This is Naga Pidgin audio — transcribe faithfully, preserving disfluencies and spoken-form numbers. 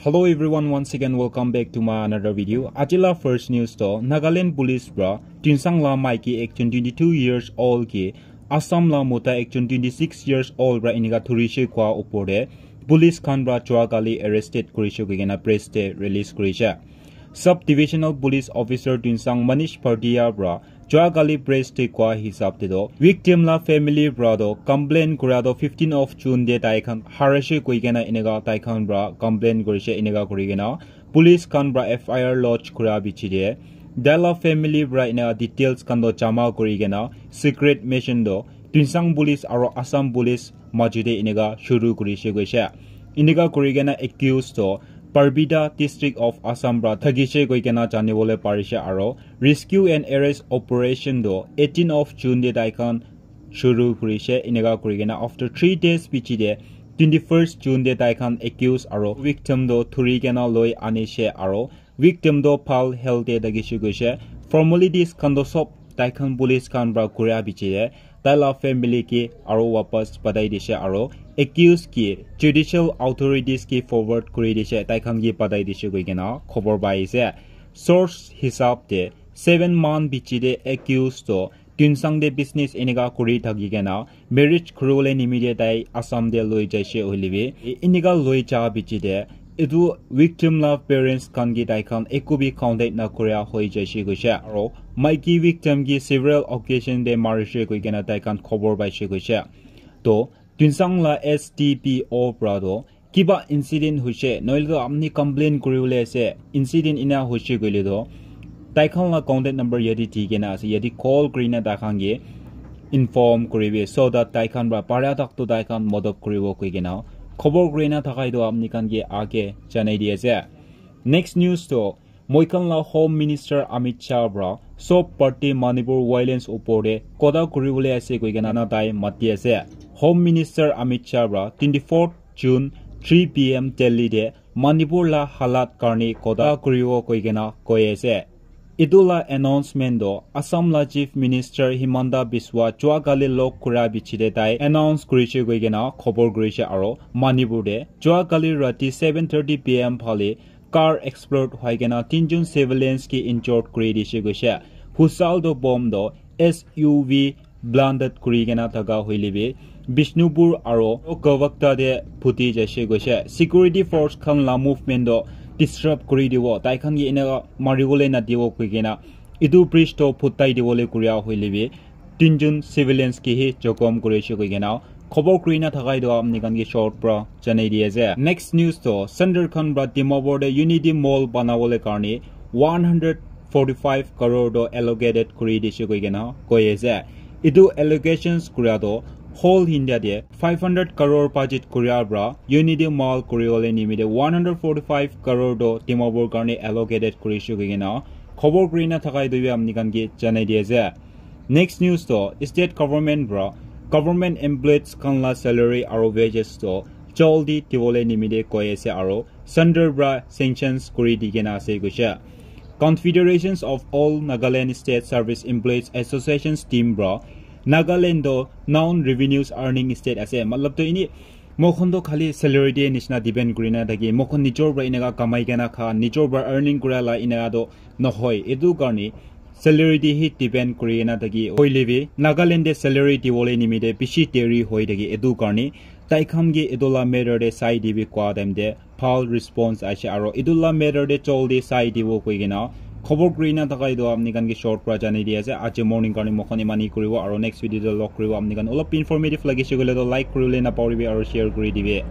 Hello everyone, once again welcome back to my another video. Ajila first news to Nagaland police pra Tuensang la maiki ekjon twenty-two years old ki Assam la mota ekjon twenty-six years old pra inika thurishe kwa upor de police khan pra jua kali arrested kurishe koikena press te release kurishe. Sub Divisional Police Officer Tuensang Manish Pardia pra jua kali press te kwa hisab te do victim la family pra do complain kura do fifteen of June de tai khan harashe koikena inika tai khan pra complain kurishe inika kurikena police khan pra F I R lodge kura bichi de tai la family pra inika details khan do jama kurikena secret mission do Tuensang police aro Assam police majude inika shuru kurishe koishe. Inika kurikena accused to Parbida district of Assam pra thakishe koikena janibole parishe aro rescue and arrest operation do eighteen of June de tai khan shuru kurishe. Inika kurikena after three days pichi de twenty-first June de tai khan accused aro victim do thurikena loi anishe aro victim do bhal health de thakishe koishe. Formalities khan do sob tai khan police khan pra kuria bichi de tai la family ki aro wapas patai dishe aro accused ki judicial authorities ki forward kuri dishe tai khan ki patai dishe koikena khobor pai ase. Source hisab de seven month bichi de accused to Tuensang de business inika kuri thakikena marriage kuribole nimite tai Assam de loi jaishe hoile bi inika loi ja bichi de etu victim la parents khan ki tai khan eku bi contact na kuria hoi jaishe koishe aro maiki victim ki several occasion de marishe koikena tai khan khobor paishe koishe. To Tuensang la S D P O pra do kiba incident hoishe noile to apni complain kuribole ase incident ina hoishe koile to tai khan la contact number yate di kena ase yate call kurina tai khan ke inform kuribi so that tai khan pra para tak to tai khan modop kuribo koikena khobor kurina thakai to apni khan ke age janai di ase. Next news to moi khan la Home Minister Amit Shah pra sob party Manipur violence upor de kotha kuribole ase koikena na tai mati ase. Home Minister Amit Shah pra twenty-fourth June three P M Delhi de Manipur la halat karni kotha kuribo koikena koi ase. Etu la announcement do Assam la Chief Minister Himanta Biswa jua kali log kura bichi de tai announce kurishe koikena khobor kurishe aro Manipur de jua kali rati seven thirty P M phale car explode hoi kena tinjon civilians ki injured kuri dishe koishe. Husal do bomb do S U V blinded kuri kena thaka hoile bi Bishnupur aro Kawakta de phuti jaishe koishe. Security force khan la movement do disrupt kuri dibo. Tai khan ki eneka maribole na dibo koi kena etu bridge to phutai dibole kuria hoile bi tinjon civilians ki hi jokhom kurishe koi kena khobor kurina thakai to apni khan ki short pra janai di ase. Next news to Sundar Khan pra Dimapur de Unity Mall banabole karni one hundred forty-five crore to allocated kuri dishe koi kena koi ase. Etu allocations kura to whole India de five hundred crore budget kura pra Unity Mall kuribole nimite one hundred forty-five crore to Dimapur karni allocated kurishe koi kena khobor kurina thakai to bi apni khan ki janai di ase. Next news to state government pra government employees khan la salary aro wages to jaldi dibole nimite koi ase aro Sundar pra sanctions kuri di kena ase koishe. Confederations of All Nagaland State Service Employees Associations team pra Nagaland to non revenues earning state ase matlab to ini moikhan to khali salary de nishina depend kurina thaki moikhan nijor pra eneka kamai kena kha nijor pra earning kura la eneka to nohoi etu karni salary de hi depend kuri kena thaki hoile bi Nagaland de salary dibole nimite bishi deri hoi thaki etu karni tai khan ke etu la matter de sai dibi kwa time de bhal response aise aro etu la matter de jaldi sai dibo koi kena khobor kurina thakai to apni khan ke short pra janai di ase. Aji morning karni moikhan imani kuribo aro next video de log kuribo. Apni khan olop informative lagise koile to like kuribole na pahoribi aro share kuri dibi.